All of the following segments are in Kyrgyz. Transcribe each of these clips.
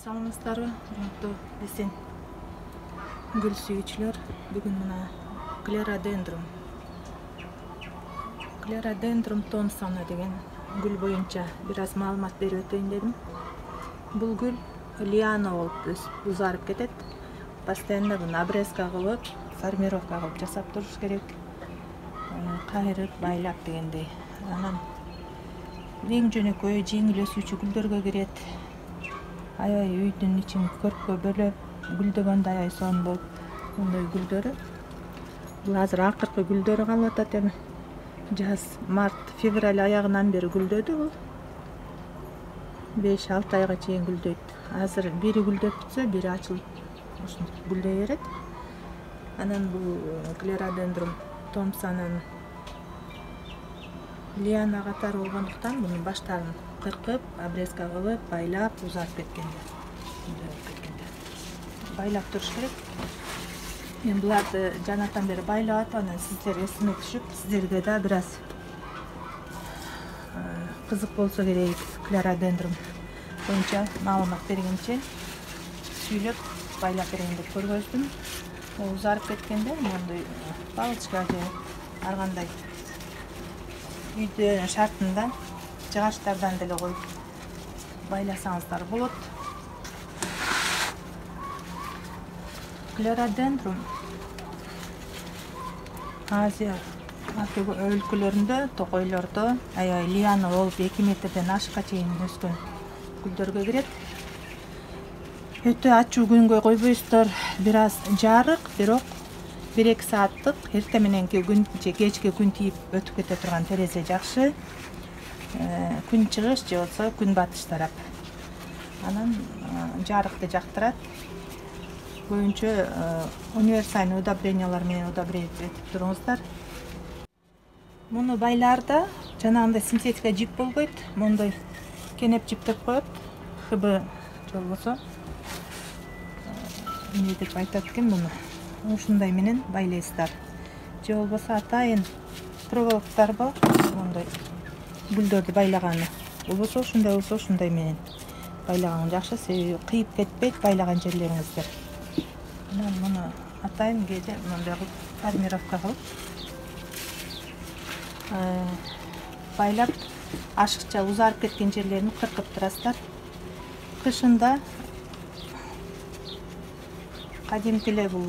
Саламатсыздарбы, урматтуу биздин гүл сүйүүчүлөр. Бүгүн мына Клерадендрум Томпсона деген гүл боюнча бир аз маалымат берип өтөйүн дедим. Бул гүл лиана болуп узарып кетет. Постоянно буну обрезка кылып, формировка кылып жасап туруш керек. Кайрып, байлап дегендей. Анан эң жөнөкөй, жеңил өсүүчү гүлдөргө кирет. Аябай үйдүн ичин көрккө бөлөп, гүлдөгөндө аябай сонун болуп, мындай гүлдөрү. Бул азыр акыркы гүлдөрү калып атат эми. Жаз, март, февраль аягынан бери гүлдөдү бул. 5-6 айга чейин гүлдөйт. Азыр бири гүлдөп бүтсө, бири ачылып, ушинтип гүлдөй берет. Анан бул Клерадендрум Томпсонун лиана катары болгондуктан мунун баштарын кыркып, обрезка кылып, байлап, узарып кеткенде. Байлап туруш керек. Мен буларды жанатан бери байлап атам, анан сиздер эсиме түшүп, сиздерге да бир аз кызык болсо керек, Клерадендрум боюнча маалымат бергенче сүйлөп, байлап берейин деп көргөздүм. Узарып кеткенде мондой палочка же ар кандай үйдө шартында жыгачтардан деле коюп байласаңыздар болот. Клерадендрум Азия өлкөлөрүндө, токойлордо аябай лиана болуп 2 метрден ашыкка чейин өскөн гүлдөргө кирет. Өтө ачуу күнгө койбойсуздар, бир аз жарык, бирок 1-2 сааттык эртең мененки күн же кечки күн тийип өтүп кете турган терезе жакшы. Күн чыгыш же болбосо күн батыш тарап. Анан жарыкты жактырат. Көбүнчө универсальный удобрениялар менен удобрить этип туруңуздар. Муну байларда жанагындай синтетика жип болбойт. Мондой кенеп жиптеп коет. ХБ же болбосо эмне деп айтат экен муну? Ушундай менен байлайсыздар. Же болбосо атайын проволоктор бар, мондой гүлдөрдү байлаганы. Болбосо ушундай менен байлаган жакшы, себеби кыйып кетпейт байлаган жерлериңиздер. Анан муну атайын кээде мындай кылып формировка кылып байлап, ашыкча узарып кеткен жерлерин кыркып турасыздар. Кышында кадимки эле бул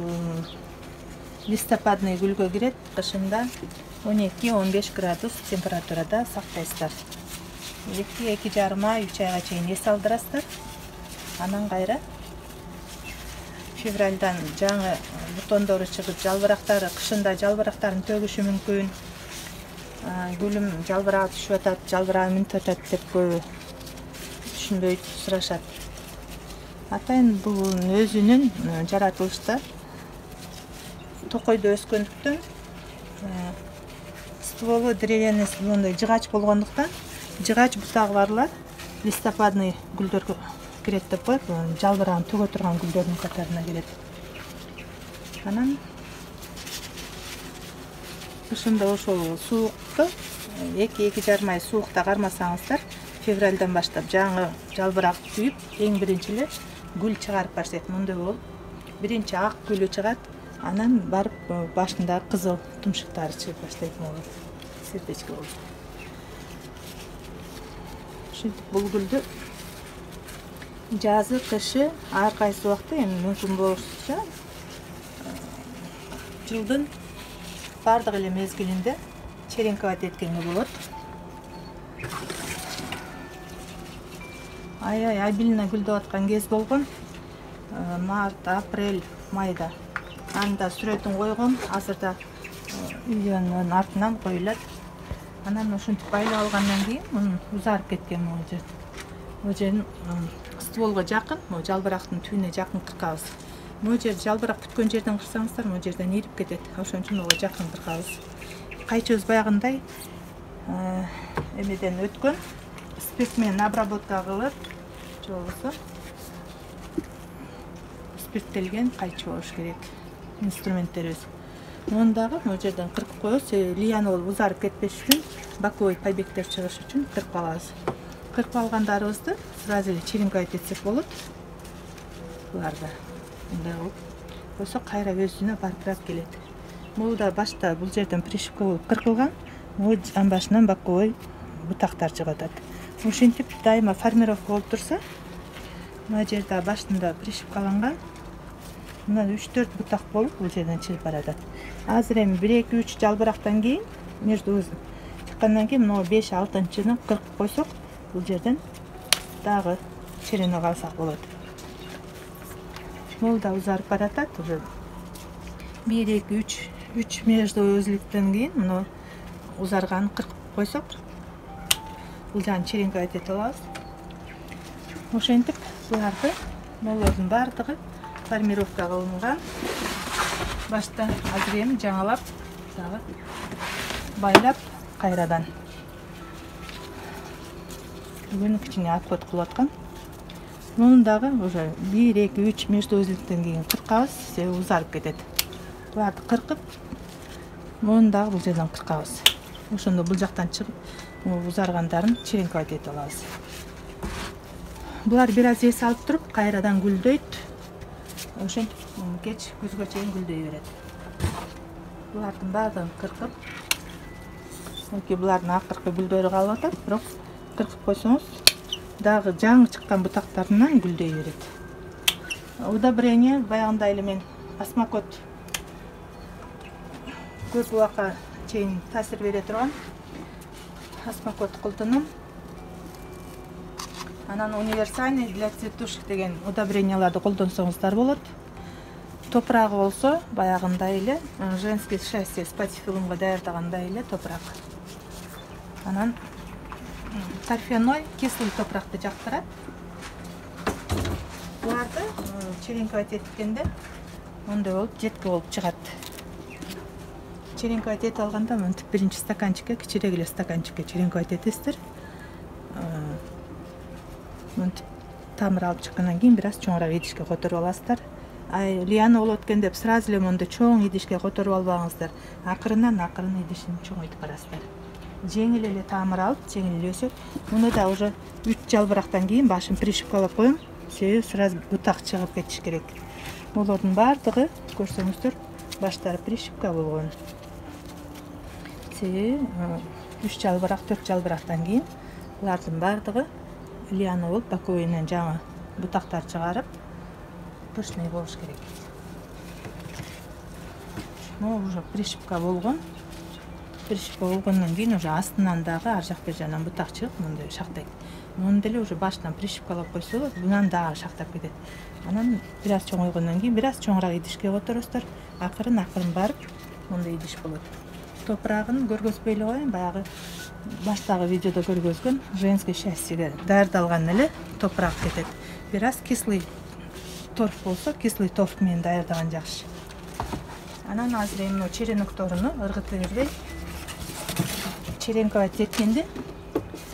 листопадный гүлгө кирет. Кышында 12-15 градус температурада сактайсыздар. 2-2,5 ай, 3 айга чейин эс алдырасыздар. Анан кайра февралдан жаңы бутондору чыгып, жалбырактары, кышында жалбырактарын төгүшү мүмкүн. Гүлүм жалбырак түшүп атат, жалбырагы мүнөтүп атат деп көбү түшүнбөйт, сурашат. Атайын бул өзүнүн жаратылышта токойдо өскөндүктөн стволу деревянный, мындай жыгач болгондуктан жыгач бутагы барлар листопадный гүлдөргө кирет деп коет. Жалбырагын төгө турган гүлдөрдүн катарына кирет. Анан кышында ошол суукту 2-2,5 ай суукта кармасаңыздар, февралдан баштап жаңы жалбырак түйүп, эң биринчи эле гүл чыгарып баштайт. Мындай болуп, биринчи ак гүлү чыгат, анан барып башында кызыл тумшуктары чыгып баштайт, могу сердечко болуп. Ушинтип бул гүлдү жазы, кышы ар кайсы убакта эми мүмкүн болушунча жылдын бардык эле мезгилинде черенковать эткенге болот. Аябай обильно гүлдөп аткан кез болгон. Март, апрель, майда. Анда сүрөтүн койгом, азырда видеонун артынан коюлат. Анан ушинтип байлап алгандан кийин мунун узарып кеткен могу жерин стволго жакын, могу жалбырактын түбүнө жакын кыркабыз. Могу жер жалбырак бүткөн жерден кырсаңыздар, могу жерден ирип кетет. Ошон үчүн ого жакын кыркабыз. Кайчыбыз баягындай эмеден өткөн, спирт менен обработка кылып, же болбосо спирттелген кайчы болуш керек инструменттерибиз. Муну дагы могу жерден кыркып коебуз, лиана болуп узарып кетпеш үчүн, боковой побегтер чыгыш үчүн кыркып алабыз. Кыркып алгандарыбызды сразу эле черенковать этсек болот. буларды мындай кылып койсо кайра өзүнө баркырап келет. Бул да башта бул жерден пришивка болуп кыркылган, амбашынан боковой бутактар чыгып атат. Ошентип дайыма формировка болуп турса, мына жерде башында пришивкаланган мына 3-4 бутак болуп бул жерден чыгып баратат. Азыр эми 1-2-3 жалбырактан кийин между чыккандан кийин мына 5-6-чыны кыркып койсок, бул жерден дагы черенок алсак болот. Бул да узарып баратат. Уже 1-2-3 между өзүлүктөн кийин мына узарганын кыркып койсок, бул жагын черенковать этип алабыз. Ошентип буларды молордун бардыгы формировка кылынган. Башта азыр эми жаңалап дагы байлап кайрадан бүгүн кичине обход кылып аткан. Мунун дагы уже 1-2-3 между өзүлүктөн кийин кыркабыз, себеби узарып кетет. Буларды кыркып, мунун дагы бул жерден кыркабыз. Ошондо бул жактан чыгып, узаргандарын черенковать этип алабыз. Булар бир аз эс алып туруп, кайрадан гүлдөйт. Ошентип кеч күзгө чейин гүлдөй берет. Булардын баардыгын кыркып, булардын акыркы гүлдөрү калып атат, бирок кыркып койсоңуз, дагы жаңы чыккан бутактарынан гүлдөй берет. Удобрение баягындай эле мен осмокот көп убакка чейин таасир бере турган осмокот кылтынын. Анан универсальный для цветушек деген удобренияларды колдонсоңуздар болот. Топурагы болсо баягындай эле женский счастье спатифилумга даярдагандай эле топурак. Анан торфяной кислый топуракты жактырат. Буларды черенковать эткенде мондай болуп жетки болуп чыгат. Черенковать этип алганда мынтип биринчи стаканчикке, кичирээк эле стаканчикке черенковать этесиздер. Мынтип тамыр алып чыккандан кийин бир аз чоңураак идишке которуп аласыздар. Лиана болот экен деп сразу эле мондай чоң идишке которуп албаңыздар. Акырын идишин чоңойтуп барасыздар. Жеңил эле тамыр алып, жеңил эле өсөт. Муну да уже 3 жалбырактан кийин башын пришивкалап коюм, себеби сразу бутак чыгып кетиш керек. Булардын бардыгы көрсөңүздөр баштары пришивка болгон. Себеби 3 жалбырак, 4 жалбырактан кийин булардын бардыгы лиана болуп, боковойнан жаңы бутактар чыгарып, пышный болуш керек. Могу уже пришивка болгон. Пришивка болгондон кийин уже астынан дагы ар жак бер жагынан бутак чыгып, мындай шактайт. Муну деле уже башынан пришивкалап койсо болот, мындан дагы шактап кетет. Анан бир аз чоңойгондон кийин бир аз чоңураак идишке которосуздар. Акырын барып, мындай идиш болот. Топурагын көргөзбөй эле коеюн, баягы баштагы видеодо көргөзгөн женский счастьеге даярдалган эле топурак кетет. Бир аз кислый торф болсо, кислый торф менен даярдаган жакшы. Анан азыр эми черенокторуну ыргытып бербей черенковать эткенде,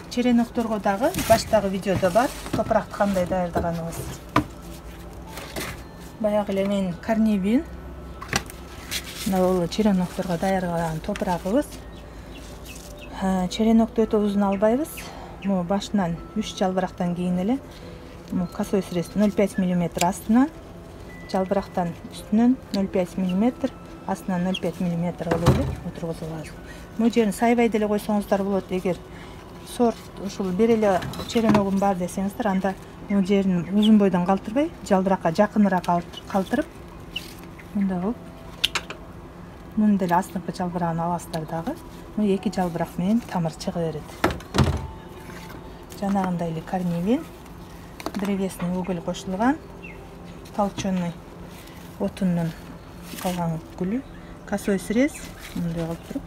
черенокторго дагы баштагы видеодо бар, топуракты кандай даярдаганыбыз. Баягы эле мен карнибин бул черенокторго даярдаган топурагыбыз. Черенокто өтө узун албайбыз. Могу башынан 3 жалбырактан кийин эле косой срез 0,5 мм астынан, жалбырактан үстүнөн 0,5 мм, астынан 0,5 мм кылып эле отургузуп алабыз. Бул жерин сайбай деле койсоңуздар болот. Эгер сорт ушул бир эле череногум бар десеңиздер, анда бул жерин узун бойдон калтырбай, жалбыракка жакыныраак калтырып, мындай кылып, муну деле астыңкы жалбырагын аласыздар дагы. Бул 2 жалбырак менен тамыр чыга берет. Жанагындай эле карнивин, древесный уголь кошулган, толченый отундун калган гүлү, косой срез мындай кылып туруп,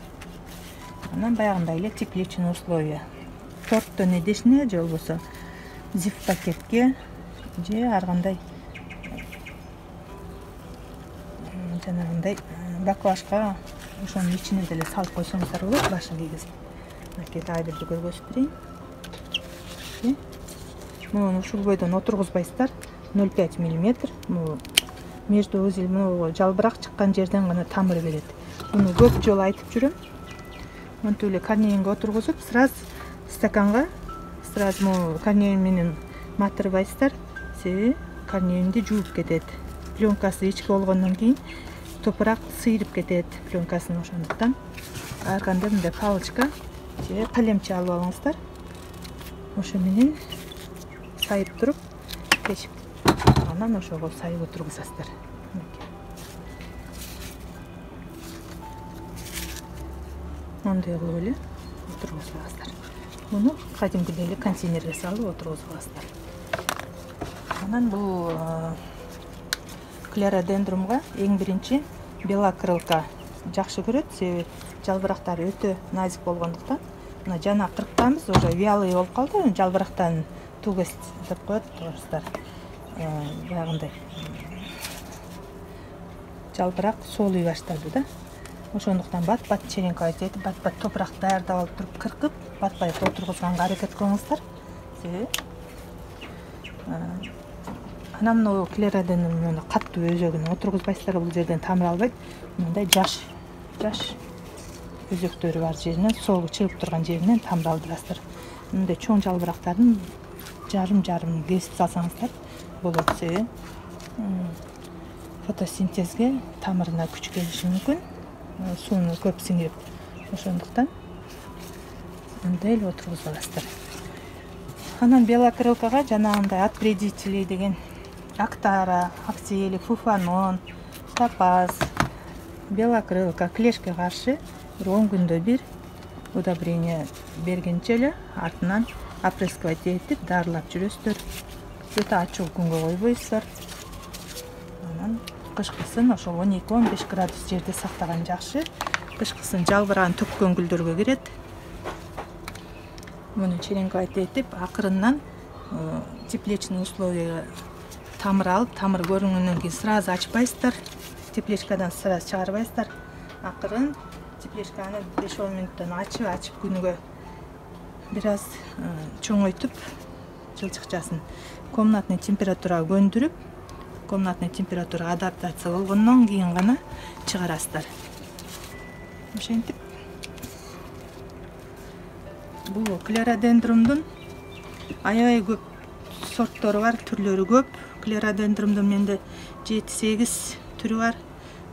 анан баягындай эле тепличный условия. Торттон идишине же болбосо зип пакетке же ар кандай жанагындай баклажка ошонун ичине деле салып койсоңуздар болот, башын кийгизип. Мынакей дагы бир көргөзүп берейин. Муну ушул бойдон отургузбайсыздар, 0,5 мм. Между узел жалбырак чыккан жерден гана тамыр берет. Муну көп жолу айтып жүрөм. Монтип эле карневинге отургузуп, сразу стаканга, сразу карневин менен матырбайсыздар. Себеби корневинди жууп кетет. Пленкасы ички болгондон кийин топурак сыйрып кетет пленкасын. Ошондуктан ар кандай мындай палочка же калемче алып алыңыздар. Ошо менен сайып туруп тешип, анан ошого сайып отургузасыздар. Мондай кылып эле отургузуп аласыздар. Муну кадимкидей эле контейнерге салып отургузуп аласыздар. Анан бул клеродендрумга эң биринчи белокрылка жакшы көрөт, себеби жалбырактары өтө назик болгондуктан. Мына жана кырктабыз, уже вялый болуп калды, жалбырактан тугость деп коет орустар. Баягындай жалбырак солуй баштады да. Ошондуктан бат-бат черенковать этип, бат-бат топурак даярдап алып туруп кыркып, бат-бат отургузганга аракет кылыңыздар. Себеби анан мына клеродендрумду катуу өзөгүнө отургузбайсыздар, бул жерден тамыр албайт. Мындай жаш өзөктөрү бар жеринен, соолу чыгып турган жеринен тамыр алдырасыздар. Мындай чоң жалбырактардын жарым кесип салсаңыздар болот, себеби фотосинтезге тамырына күч келиши мүмкүн, сууну көп сиңирип. Ошондуктан мындай эле отургузуп аласыздар. Анан белокрылкага жанагындай отвредители деген актара, акселик, фуфанон, топаз, белокрылка, клешке каршы 10 күндө бир удобрение бергенче эле артынан опрыскивать этип дарылап жүрөсүздөр. Өтө ачык күнгө койбойсуздар. Анан кышкысын ошо 12-15 градус жерде сактаган жакшы. Кышкысын жалбырагын төккөн гүлдөргө кирет. Муну черенковать этип, акырындан тепличный условияга тамыр алып, тамыр көрүнгөндөн кийин сразу ачпайсыздар. Тепличкадан сразу чыгарбайсыздар. Акырын тепличканы 5-10 мүнөттөн ачып күнүгө бир аз чоңойтуп, жылчыкчасын комнатный температурага көндүрүп, комнатный температурага адаптация болгондон кийин гана чыгарасыздар. Ошентип бул клеродендрумдун аябай көп сорттору бар, түрлөрү көп. Клеродендрумдун менде 7-8 түрү бар.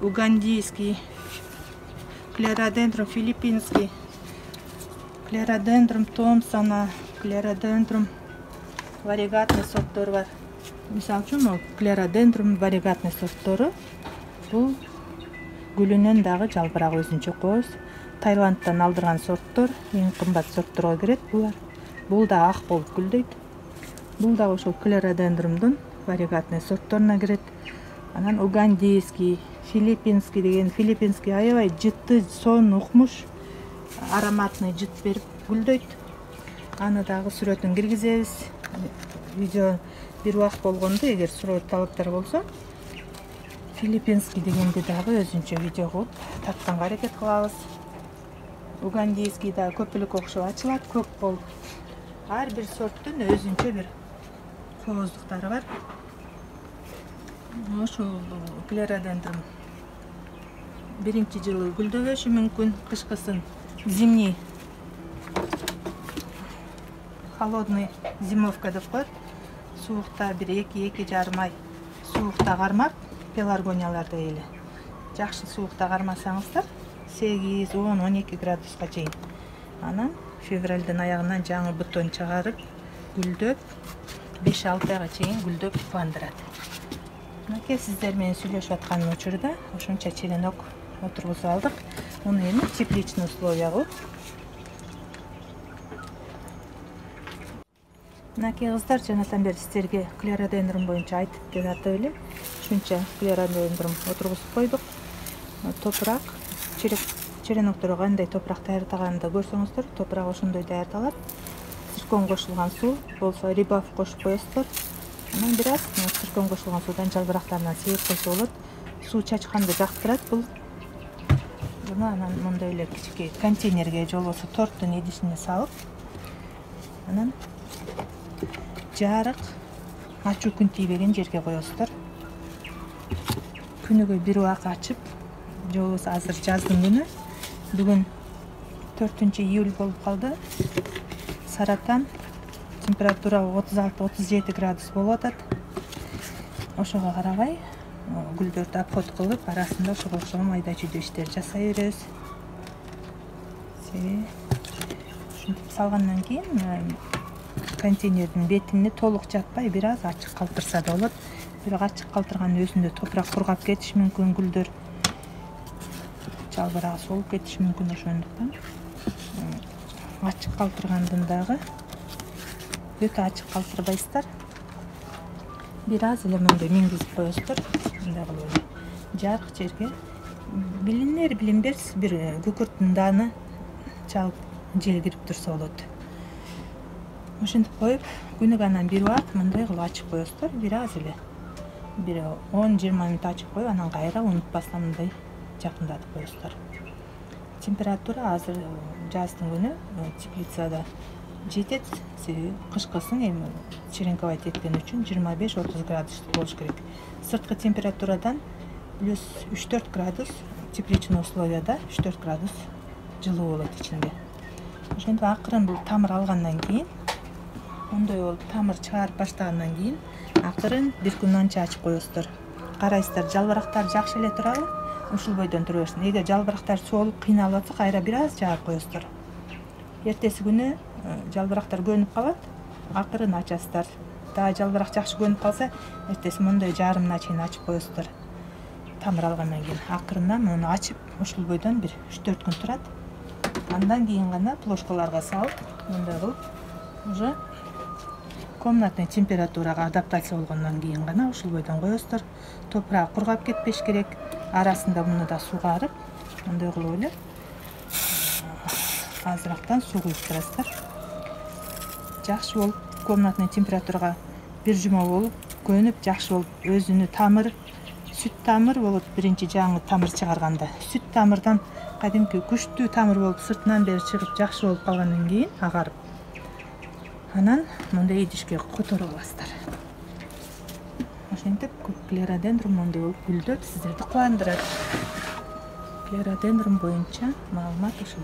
Угандийский, клеродендрум филиппинский, клеродендрум Томпсона, клеродендрум варигатный сорттор бар. Мисалы үчүн, клеродендрум варигатный сорттору бул гүлүнөн дагы жалбырак өзүнчө коз. Таиландтан алдырган сорттор, эң кымбат сортторго кирет булар. Бул да ак болуп гүлдөйт. Бул да ошол клеродендрумдун варигатный сортторуна кирет. Анан угандийский, филиппинский деген, филиппинский аябай жытты, сон, укмуш, ароматный жыт берип гүлдөйт. Аны дагы сүрөтүн киргизебиз. Видео бир убакыт болгондо, эгер сүрөт талаптар болсо, филиппинский дегенди дагы өзүнчө видео кылып тартканга аракет кылабыз. Угандийский да көпүлүк окшоп ачылат, көк болуп. Ар бир сорттун өзүнчө бир кооздуктары бар. Ошол клеродендрум биринчи жылы гүлдөбөшү мүмкүн, кышкысын зимний, холодный зимовка деп коет. Суукта бир 2-2,5 ай суукта кармап, пеларгониялардай эле. Жакшы суукта кармасаңыздар, 8-10-12 градуска чейин. Анан февралдын аягынан жаңы бутон чыгарып, гүлдөп, 5-6 айга чейин гүлдөп кубандырат. Мынакей сиздер менен сүйлөшүп аткан учурда ошонча черенок отургузуп алдык. Муну эми тепличный условия кылып. Мынакей кыздар, жанатан бери сиздерге клеродендрум боюнча айтып жатып эле. Ушунча клеродендрум отургузуп койдук. Топурак, черенокторго кандай топурак даярдаганды көрсөңүздөр, топурак ошондой даярдалат. Циркон кошулган суу болсо рибаф кошуп коесуздар. Анан бир аз циркон кошулган суудан жалбырактарынан сейип койсо болот. Суу чачканды жактырат бул. Буну анан мындай эле кичике контейнерге же болбосо торттун идишине салып, анан жарык, ачуу күн тийбеген жерге коесуздар. Күнүгө бир убак ачып, же болбосо азыр жаздын күнү, бүгүн 4-июль болуп калды. Саратан температура 36-37 градус болуп атат. ошого карабай гүлдөрдү обход кылып, арасында ошого окшогон майда чүйдө иштер жасай беребиз. Ушинтип салгандан кийин контейнердин бетине толук жаппай, бир аз ачык калтырса да болот. Бирок ачык калтырганын өзүндө топурак кургап кетиши мүмкүн, гүлдөр жалбырагы солуп кетиши мүмкүн. Ошондуктан ачык калтыргандын дагы өтө ачык калтырбайсыздар. Бир аз эле мындай мингизип коесуздар. Мындай кылып эле жарык жерге билинер билинбес бир күкүрттүн дааны чалып жел кирип турса болот. Ошентип коюп, күнүгө анан бир убак мындай кылып ачып коесуздар. Бир аз эле бир 10-20 мүнөт ачып коюп, анан кайра унутпастан мындай жакындатып коесуздар. Температура азыр жаздын күнү теплицада жетет. Себеби кышкысын эми черенковать эткен үчүн 25-30 градус болуш керек. Сырткы температурадан плюс 3-4 градус, тепличный условияда 3-4 градус жылуу болот ичинде. Ошентип акырын бул тамыр алгандан кийин, мындай болуп тамыр чыгарып баштагандан кийин акырын бир күн анча ачып коесуздар. Карайсыздар, жалбырактар жакшы эле турабы? Ушул бойдон тура берсин. Эгер жалбырактар соолуп кыйналып атса, кайра бир аз жаап коесуздар. Эртеси күнү жалбырактар көнүп калат, акырын ачасыздар. Дагы жалбырак жакшы көнүп калса, эртеси мындай жарымына чейин ачып коесуздар. Тамыр алгандан кийин акырындан муну ачып, ушул бойдон бир 3-4 күн турат. Андан кийин гана плошкаларга салып, мындай кылып, уже комнатный температурага адаптация болгондон кийин гана ушул бойдон коесуздар. Топурак кургап кетпеш керек. Арасында муну да сугарып, мындай кылып эле азырактан суу куюп турасыздар. Жакшы болуп комнатный температурага бир жума болуп көнүп, жакшы болуп өзүнү тамыр, сүт тамыр болот. Биринчи жаңы тамыр чыгарганда сүт тамырдан кадимки күчтүү тамыр болуп сыртынан бери чыгып жакшы болуп калгандан кийин агарып, анан мындай идишке которуп аласыздар. Ошентип клеродендрум мындай болуп гүлдөп сиздерди кубандырат. Клеродендрум боюнча маалымат ушул.